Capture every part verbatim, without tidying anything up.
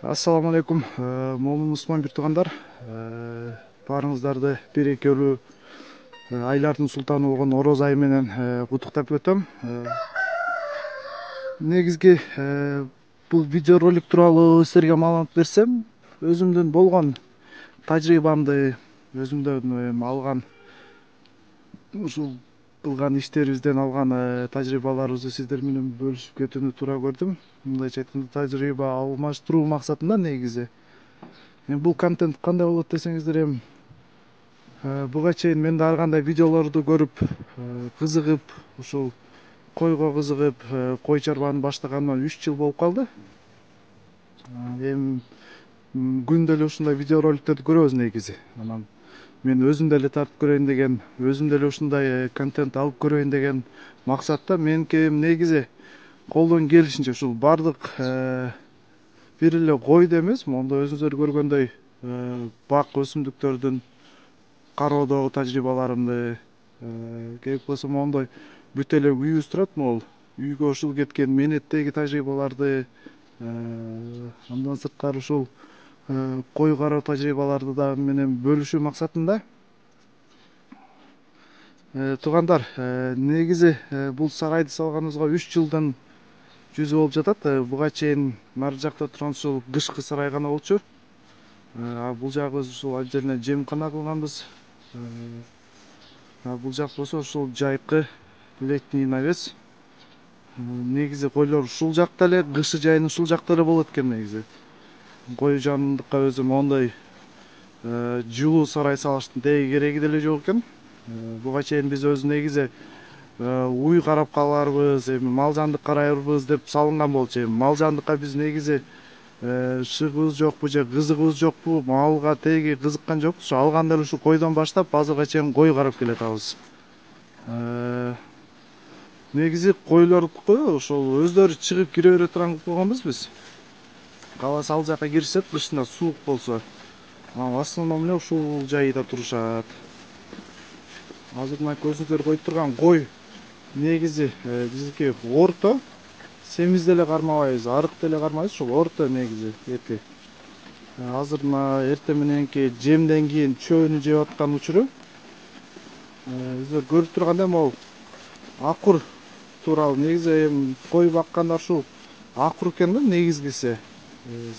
Assalamu alaikum. Момун Усман бир туугандар. Баарыңыздарды бир экөөлүү айлардын султаны болгон Ороз айы менен куттуктап өтөм. Негизги бул видео ролик тууралуу силерге маалымат берсем, өзүмдүн болгон тажрыйбамды, өзүмдөн алган ушул кылган иштерибизден алган тажрыйбаларыбызды сиздер менен бөлүшүп кетүүнү туура көрдүм. Мындайча айтканда тажрыйба алмаштыруу максатында негизи. Эми бул контент кандай болот десеңиздер, эми буга чейин мен да ар кандай видеолорду көрүп, кызыгып, ушул койго кызыгып, кой чарбаны баштаганыма үч жыл болуп калды. Эми күндө эле ушундай видео роликтерди көрөбүз негизи. Анан мен өзүм деле тартып көрөйүн деген, өзүм деле ушундай контент алып көрөйүн деген максатта меники негизи колдон келишинче ушул бардык бир эле койду эмес, мондо өзүңүздөр көргөндөй бак өсүмдүктөрдүн кароодогу тажрыйбаларымды, керек болсо мондой бүт эле үйүбүз турат, могул үйгө ушул кеткен менеттеги тажрыйбаларды, андан сырткары ушул кой кароо тажрыйбаларды да менен бөлүшүү максатында. Туугандар, негизи бул сарайды салганыбызга үч жылдан жүзү болуп жатат. Буга чейин нары жакта турган ушул кышкы сарай гана болчу. Бул жагыбыз ушул отдельно жемкана кылганбыз. Бул жак болсо ушул жайкы летний навес. Негизи койлор ушул жакта эле, кышы жайын ушул жакта эле болот экен негизи. Кой жандыкка өзү мондой жылуу сарай салыштын теги кереги деле жок экен. Буга чейин биз өзү негизи уй карап каларбыз, эми мал жандык карайбыз деп салынган болчу. Эми мал жандыкка биз негизи шыгыбыз жокпу же кызыгыбыз жокпу, малга теги кызыккан жокпуз. Ушу алганда эле ушу койдон баштап азыркыга чейин кой карап келатабыз. Негизи койлордуку ошол өздөрү чыгып кире бере турган кылып койгонбуз биз. Кааласа ал жака киришет, кышында суук болсо. В основном эле ушул жайда турушат. Азыр мына көзүңүздөр коюп турган кой негизи биздики орто. Семиз деле кармабайбыз, арык деле кармайбыз, ушул орто негизи эти. Азыр мына эртең мененки жемден кийин чөбүнү жеп аткан учуру. Өздөр көрүп тургандай могул акур тууралуу негизи эми кой баккандар ушул акур экен да негизгиси.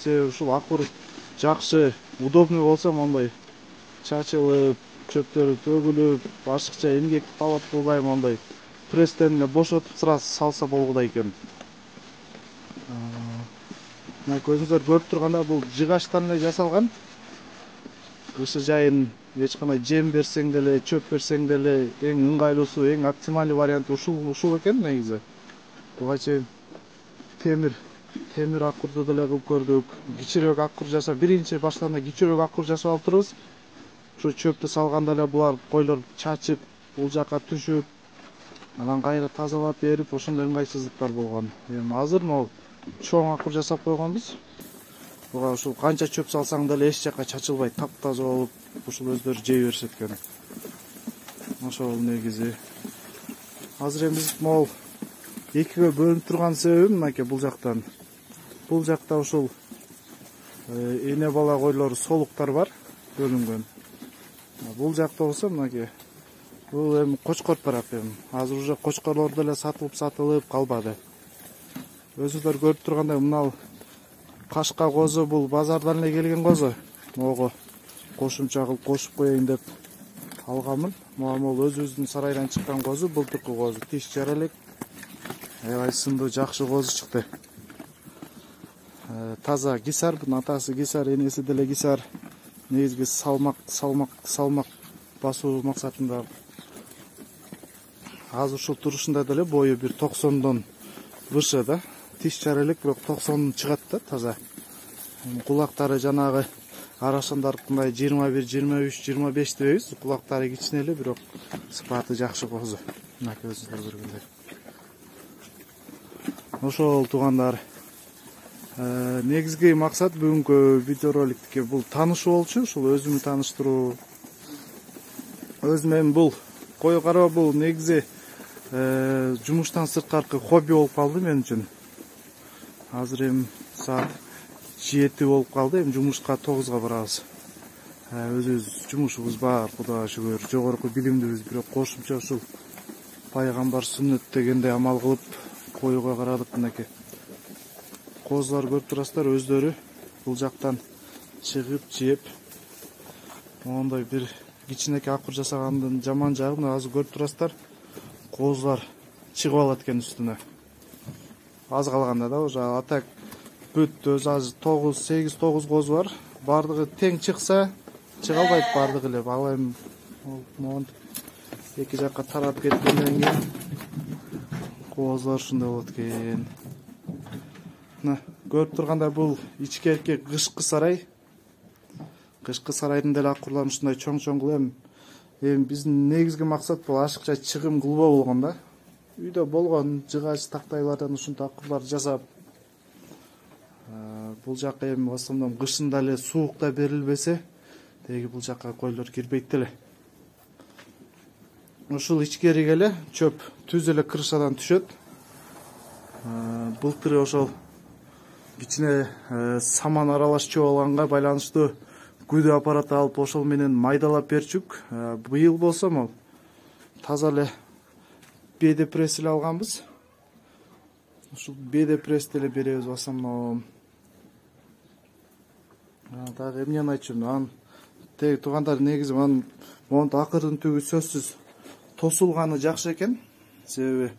Себеби ушул акур жакшы, удобный болсо мондой чачылып, чөптөрү төгүлүп, башкача эмгек талап кылбай мондой пресстен эле бошотуп сразу салса болгудай экен. Мына көзүңүздөр көрүп тургандай бул жыгачтан эле жасалган. Кышы жайын эч кандай жем берсең деле, чөп берсең деле эң ыңгайлуусу, эң оптимальный варианты ушул ушул экен негизи. Буга чейин темир темир акурду деле кылып көрдүк. Кичирөөк акур жасап, биринчи баштаганда кичирөөк акур жасап алып турбуз. Ушу чөптү салганда эле булар койлор чачып, бул жака түшүп, анан кайра тазалап берип, ошондой ыңгайсыздыктар болгон. Эми азыр могул чоң акур жасап койгонбуз. Буга ушул канча чөп салсаң деле эч жака чачылбай таптаза болуп, ушул өздөрү жей беришет экен. Ошол негизи. Азыр эми биз могул экиге бөлүнүп турган себебим мынакей бул жактан. Бул жакта ушул эне бала койлор солуктар бар, бөлүнгөн. Бул жакта болсо мынакей бул эми кочкор тарап эми. Азыр уже кочкорлор деле сатылып сатылып калбады. Өзүңүздөр көрүп тургандай мына кашка козу бул базардан эле келген козу. Могу кошумча кылып кошуп коеюн деп алганмын. Могул өзүбүздүн сарайдан чыккан козу, былтыркы козу тиш жара элек. Аябай сындуу, жакшы козу чыкты. Таза кисар, бунун атасы кисар, энеси деле кисар. Негизги салмак, салмак, салмак басуу максатында. Азыр ушул турушунда деле бою бир токсондон выше да. Тиш жара элек, бирок токсон чыгат да таза. Кулактары жанагы арашандарыкындай жыйырма бир, жыйырма үч, жыйырма беш дебейбиз. Кулактары кичине эле, бирок сыпаты жакшы козу. Мына көзүңүздөр көргөндөй. Ошол туугандар, негизги максат бүгүнкү видео роликтики бул таанышуу болчу, ушул өзүмдү тааныштыруу. Өзүм эми бул кой кароо бул негизи жумуштан сырткаркы хобби болуп калды мен үчүн. Азыр эми саат жети болуп калды. Эми жумушка тогузга барабыз. Өзүбүз жумушубуз бар, Кудайга шүгүр. Жогорку билимдибиз, бирок кошумча ушул пайгамбар сүннөт дегендей амал кылып коюга карадык. Мынакей козулар көрүп турасыздар, өздөрү бул жактан чыгып жеп. Моундай бир кичинекей акыр жасагандын жаман жагы мына азыр көрүп турасыздар. Козулар чыгып алат экен үстүнө. Аз калганда да уже атак бүт өзү азыр тогуз, сегиз тогуз козу бар. Бардыгы тең чыкса, чыга албайт бардыгы эле. Ал эми монтип эки жакка тарап кеткенден кийин козулар ушундай болот экен. Мына көрүп тургандай бул ичкерки кышкы сарай. Кышкы сарайдын деле акурларын ушундай чоң-чоң кылып, эми биздин негизги максат бул ашыкча чыгым кылбоо болгон да. Үйдө болгон жыгач тактайлардан ушундай акурлар жасап, бул жакка эми в основном кышында эле суукта берилбесе, теги бул жакка койлор кирбейт эле. Ушул ичкериге эле чөп түз эле крышадан түшөт. Былтыры ошол кичине саман аралаш чөп алганга байланыштуу күдө аппараты алып ошол менен майдалап берчүк. Быйыл болсо могу таза эле беде пресс эле алганбыз. Ушул беде прессти эле беребиз в основном. Дагы эмнени айтчумун? Анан теги туугандар, негизи анын монтип акырдын түгү сөзсүз тосулганы жакшы экен. Себеби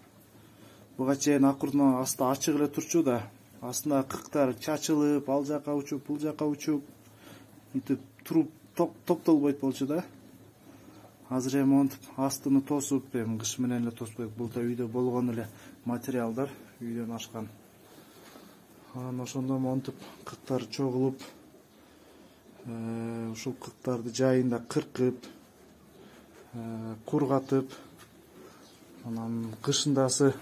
буга чейин акырдын асты ачык эле турчу да. Астына кыктар чачылып, ал жака учуп, бул жака учуп, мынтип туруп топтолбойт болчу да. Азыр эми монтип астыны тосуп, эми кыш менен эле тоспойт. Бул да үйдө болгон эле материалдар, үйдөн ашкан. Анан ошондо монтип кыктар чогулуп, ушул кыктарды жайында кыркып, кургатып, анан кышындасы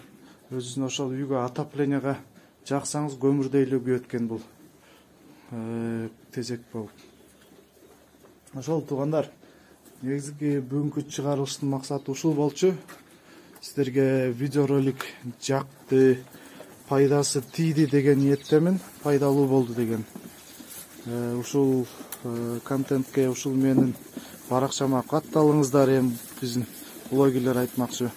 өзүнүн ошол үйгө отопленияга жаксаңыз көмүрдөй эле күйөт экен бул тезек болуп. Ошол туугандар, негизги бүгүнкү чыгарылыштын максаты ушул болчу. Сиздерге видеоролик жакты, пайдасы тийди деген ниеттемин, пайдалуу болду деген. Ушул контентке, ушул менин баракчама катталыңыздар, эми биздин блогерлер айтмакчы.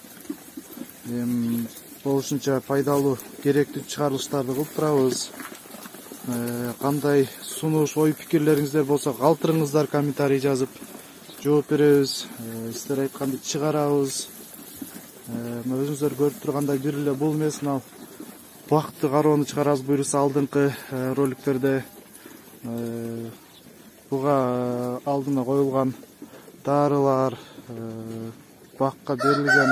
Эми болушунча пайдалуу, керектүү чыгарылыштарды кылып турабыз. Кандай сунуш, ой пикирлериңиздер болсо калтырыңыздар, комментарий жазып жооп беребиз. Сиздер айтканды чыгарабыз. Өзүңүздөр көрүп тургандай бир эле бул эмес, мына бакты кароону чыгарабыз буюрса алдыңкы роликтерде. Буга алдына коюлган дарылар, бакка берилген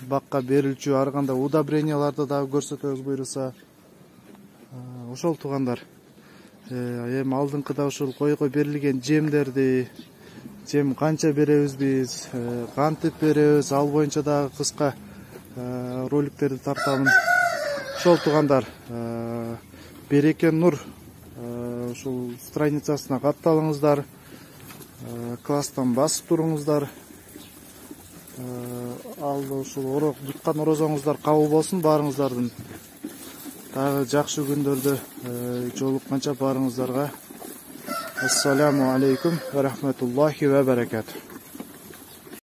бакка берилчү ар кандай удобренияларды дагы көрсөтөбүз буюрса. Ошол туугандар, эми алдыңкыда ушул койго берилген жемдерди, жем канча беребиз биз, кантип беребиз, ал боюнча дагы кыска роликтерди тартамын. Ошол туугандар, береке нур ушул страницасына катталыңыздар, класстан басып туруңуздар. Ал ушул туткан орозоңуздар кабыл болсун баарыңыздардын. Дагы жакшы күндөрдө жолукканча баарыңыздарга ассаламу алейкум ва рахматуллахи ва баракатух.